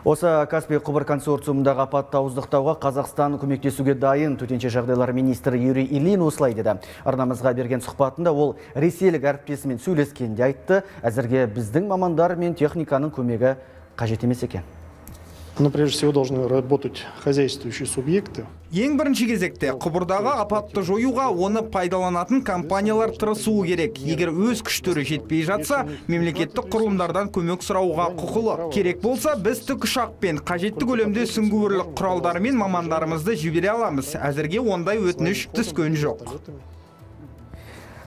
Осы Каспий құбыр консорциумындағы апатты ауыздықтауға Қазақстан көмектесуге дайын. Төтенше жағдайлар министрі Юрий Ильин осылай деді. Арнамызға берген сұхбатында ол ресейлік әріптесімен сөйлескенде айтты. Әзірге біздің мамандар мен техниканың көмегі қажет емес екен. Но прежде всего должны работать хозяйствующие субъекты. Ең бірінші кезекте құбырдағы апатты жоюға оны пайдаланатын компаниялар тырысуы керек. Егер өз күштері жетпей жатса, мемлекеттік құрылымдардан көмек сұрауға құқылы. Керек болса, біз тікұшақпен қажетті көлемде сүңгуірлік құралдарымен мамандарымызды жібере аламыз. Әзірге ондай өтініш түскен жоқ.